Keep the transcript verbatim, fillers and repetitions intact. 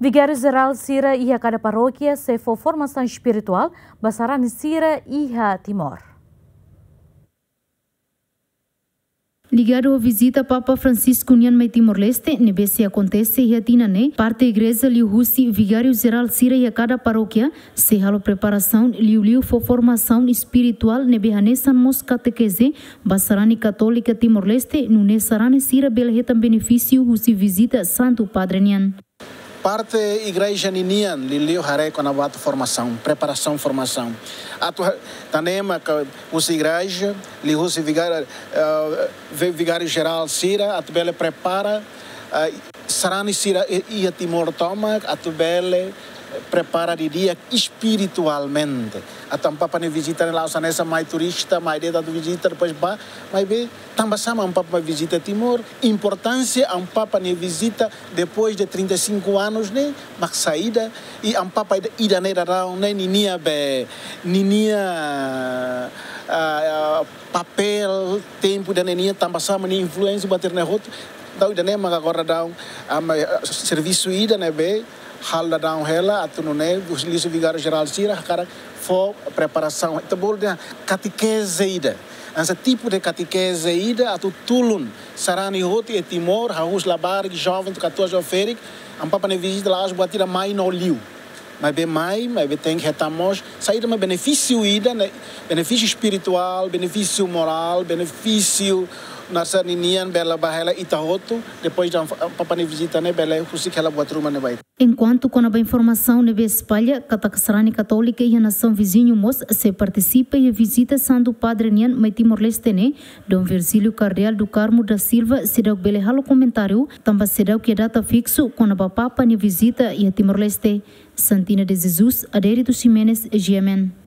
Vigáriu Jerál sira iha kada parókia sei fó formasaun espirituál ba sarani sira iha Timor. Ligadu ho vizita Papa Francisco nian mai Timor-Leste, ne'ebé sei akontese iha tinan ne'e, parte igreja liuhusi vigáriu jerál sira iha kada parókia sei halo preparasaun, liuliu fó formasaun espirituál ne'ebé hanesan mós katekeze ba sarani katólika Timor-Leste, nune'e sarani sira bele hetan benefísiu husi vizita Santu Padre nian. Parte igreja ninian, liuliu haree kona-ba atu formasaun, preparasaun formasaun. Atu ha-, tanema ka husi igreja, liuhusi vigáriu, eh, vi-, vigáriu jerál sira, atu bele prepara, eh, sarani sira i-, iha Timor tomak, atu bele prepara didi'ak espiritualmente. Atu Amu Papa nia vizita ne'e la'ós hanesan mai turista, mai de'it atu vizita, depois bá, maibé tanba sá Amu Papa mai vizita Timor, importánsia Amu Papa nia vizita depois de trinta e cinco anos ne'e, mak saida, i Amu Papa ida, ida-ne'e daudaun ne'e, ninia be, ninia, ah, ah, papél, tempu ida-ne'e nian, tanba sá nia influénsia buat sira-ne'e hotu. Entaun ida-ne'e mak agora daudaun, ah, mai, ah, servisu ida ne'ebé halo daudaun hela, atu nune'e, husi vigáriu jerál sira, hakarak fó preparasaun, ita bolu dehan katekeze ida. Hanesan tipu de katekeze ida, atu tulun sarani hotu iha Timor, hahú labarik, joven, katuas, joven ferik, Amu Papa nia vizita la'ós buat ida mai no liu. Maibé mai, maibé tenke hetan mós saida mak benefísiu ida, ne'e, benefísiu espirituál, benefísiu morál, benefísiu nasa ninian bele ba hela ita hotu, depois de Amu Papa nia vizita ne'e bele husik hela buat ruma ne'ebá. Enkuantu kona-ba informasaun ne'ebé espalla katak sarani katólika iha nasaun viziñu mós sei partisipa iha vizita Santu Padre nian mai Timor-Leste ne'e, Dom Virgílio Cardeal do Carmo da Silva seidauk bele halo komentáriu, tanba seidauk iha data fiksu kona-ba Papa nia vizita iha Timor-Leste. Santina de Jesus, Adérito Ximenes, G M N.